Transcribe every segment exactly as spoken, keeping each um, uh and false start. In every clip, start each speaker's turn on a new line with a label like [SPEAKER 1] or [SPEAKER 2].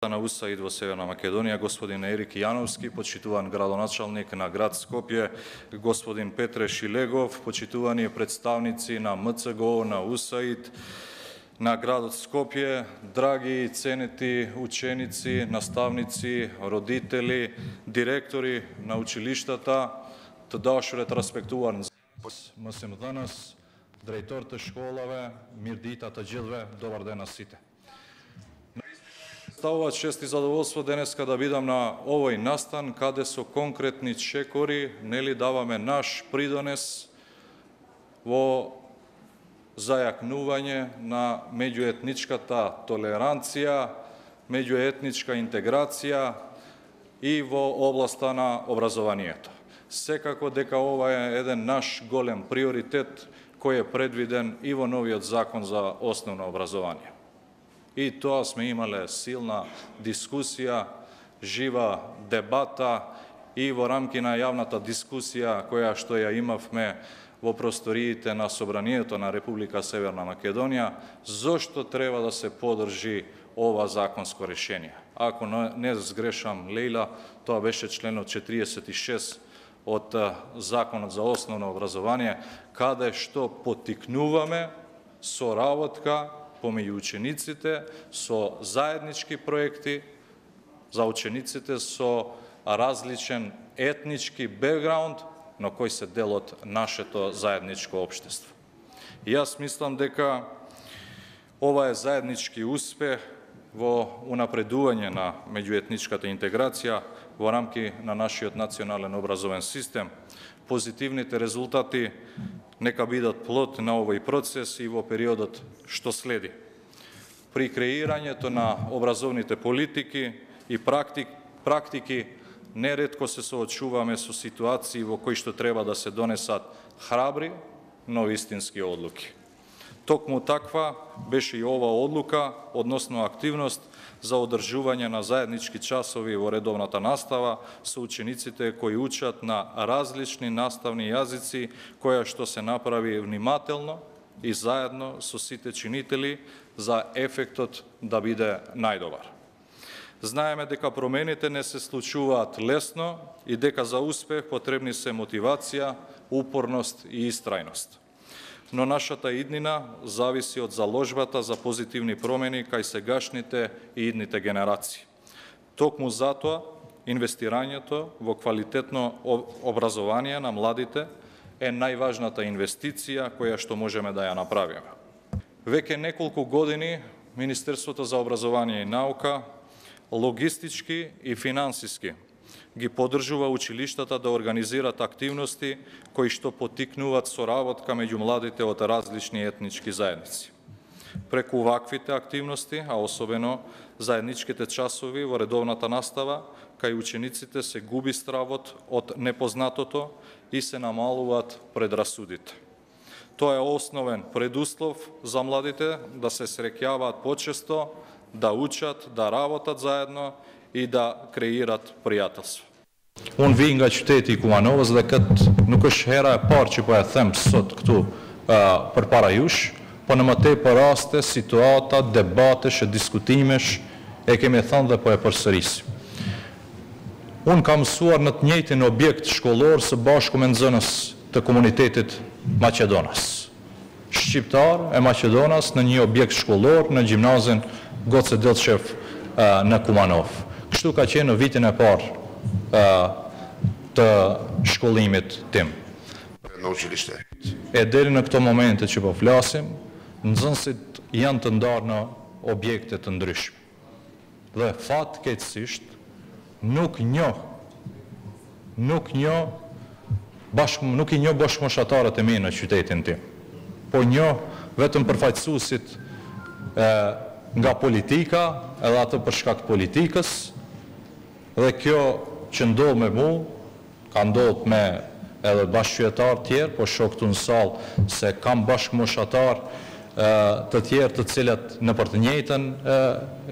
[SPEAKER 1] на УСАИД во Северна Македонија, господин Ерик Јановски, почитуван градоначалник на град Скопје, господин Петре Шилегов, почитувани представници на МЦГО, на УСАИД, на градот Скопје, драги и ценети ученици, наставници, родители, директори на училиштата, тадаш ретроспектуван мусим данас, директорите школаве, мирдитата джилве, добар ден на сите. Ставува чест и задоволство денеска да бидам на овој настан, каде со конкретни чекори, нели даваме наш придонес во зајакнување на меѓуетничката толеранција, меѓуетничка интеграција и во областа на образованието. Секако дека ова е еден наш голем приоритет кој е предвиден и во новиот закон за основно образование. И тоа сме имале силна дискусија, жива дебата и во рамки на јавната дискусија која што ја имавме во просториите на Собранието на Република Северна Македонија, зошто треба да се подржи ова законско решение. Ако не сгрешам, Лејла, тоа беше членот четириесет и шест од Законот за основно образование, каде што поттикнуваме соработка помеѓу учениците со заеднички проекти за учениците со различен етнички бекграунд, но кој се дел од нашето заедничко општество. И јас мислам дека ова е заеднички успех во унапредување на меѓуетничката интеграција во рамки на нашиот национален образовен систем. Позитивните резултати нека бидат плод на овој процес и во периодот што следи. При креирањето на образовните политики и практик, практики неретко се соочуваме со ситуации во кои што треба да се донесат храбри, но вистински одлуки. Токму таква беше и ова одлука, односно активност за одржување на заеднички часови во редовната настава со учениците кои учат на различни наставни јазици, која што се направи внимателно и заедно со сите чинители за ефектот да биде најдобар. Знаеме дека промените не се случуваат лесно и дека за успех потребни се мотивација, упорност и истрајност. Но нашата иднина зависи од заложбата за позитивни промени кај сегашните и идните генерации. Токму затоа, инвестирањето во квалитетно образование на младите е најважната инвестиција која што можеме да ја направиме. Веќе неколку години Министерството за образование и наука логистички и финансиски ги поддржува училиштата да организират активности кои што поттикнуваат соработка меѓу младите од различни етнички заедници. Преку ваквите активности, а особено заедничките часови во редовната настава, кај учениците се губи стравот од непознатото и се намалуваат предрасудите. Тоа е основен предуслов за младите да се среќаваат почесто, да учат, да работат заедно и да креират пријателство.
[SPEAKER 2] Unë vi nga qyteti i Kumanovës dhe këtë nuk është hera e parë që po e them sot këtu uh, për para jush, po në më tepër raste, situata, debatesh e diskutimesh e kemi thënë dhe po e përsërisim. Unë kam mësuar në të njëjtin objekt shkollor së bashku me nxënës të komunitetit Maqedonas. Shqiptar e Maqedonas në një objekt shkollor në gjimnazin Goce Delçev uh, në Kumanov. Kështu ka qenë në vitin e parë të shkollimit tim.
[SPEAKER 3] Në učilište.
[SPEAKER 2] E deri në këto momente që po flasim, nxënësit janë të ndarë në objekte të ndryshme. Dhe fatkeqësisht nuk njoh, nuk njoh bashkë, nuk i njoh bashkëmoshatarët e mi në qytetin tim. Po njoh vetëm përfaqësuesit nga politika, edhe ato për shkak të politikës. Dhe kjo që ndodh me mu, ka ndodh me edhe bashkëqytetar tjerë, po shoh këtu në sallë se kam bashkëmoshatar të tjerë të cilat në për të njëjtën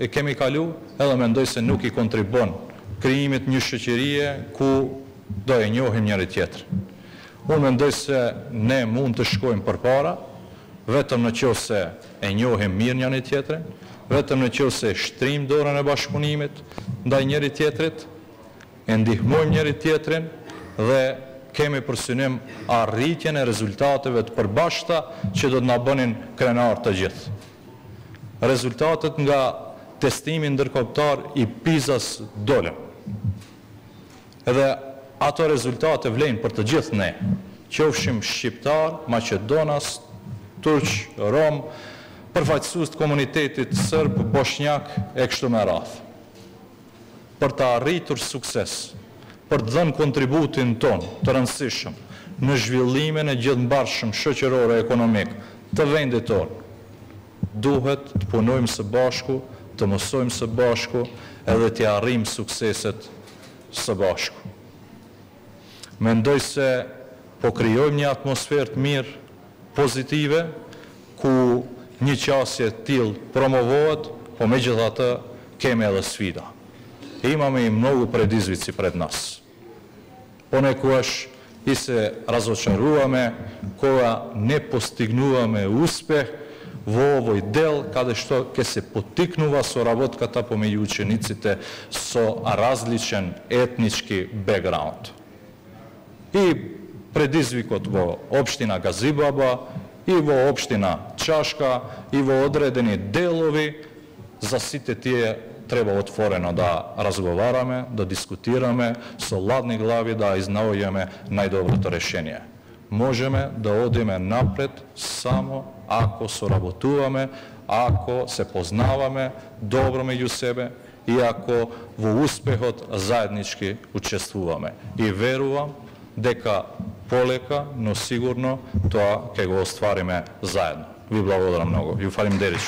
[SPEAKER 2] e kemi kalu, edhe mendoj se nuk i kontribon krijimit një shoqërie ku do e njohim njëri tjetrin. Unë mendoj se ne mund të shkojmë përpara, vetëm në qoftë se e njohim mirë njëri tjetrin vetëm në qovë se shtrim dorën e bashkëpunimit ndaj njëri tjetrit, e ndihmojmë njëri tjetrin dhe kemi për synim arritjen e rezultateve të përbashkëta që do të na bënin krenar të gjithë. Rezultatet nga testimi ndërkombëtar i PISA-s dolën. Edhe ato rezultate vlen për të gjithë ne, qofshim shqiptar, maqedonas, turq, rom, përfaqësues të komunitetit serb, bosnjak e kështu me radhë. Për të arritur sukses, për të dhënë kontributin ton të rëndësishëm në zhvillimin e gjithëmbarshëm shoqëror e ekonomik të vendit tonë, duhet të punojmë së bashku, të mësojmë së bashku edhe të arrijmë sukseset së bashku. Mendoj se po krijojmë një atmosferë të mirë, pozitive, ku një qasje të tillë promovohet, po međutim kemi edhe sfida. Imamo i mnogo predizvici pred nas. Ponekogаш и се разочаруваме кога не постигнуваме успех во овој дел, каде што ќе се поттикнува соработката помеѓу учениците со различен етнички бекграунд. И предизвикот во општина Газибаба, и во општина Чашка, и во одредени делови, за сите тие треба отворено да разговараме, да дискутираме, со ладни глави да изнаоѓаме најдоброто решение. Можеме да одиме напред само ако соработуваме, ако се познаваме добро меѓу себе и ако во успехот заеднички учествуваме. И верувам дека полека, но сигурно тоа ќе го оствариме заедно. Ви благодарам многу. Ju falimderit.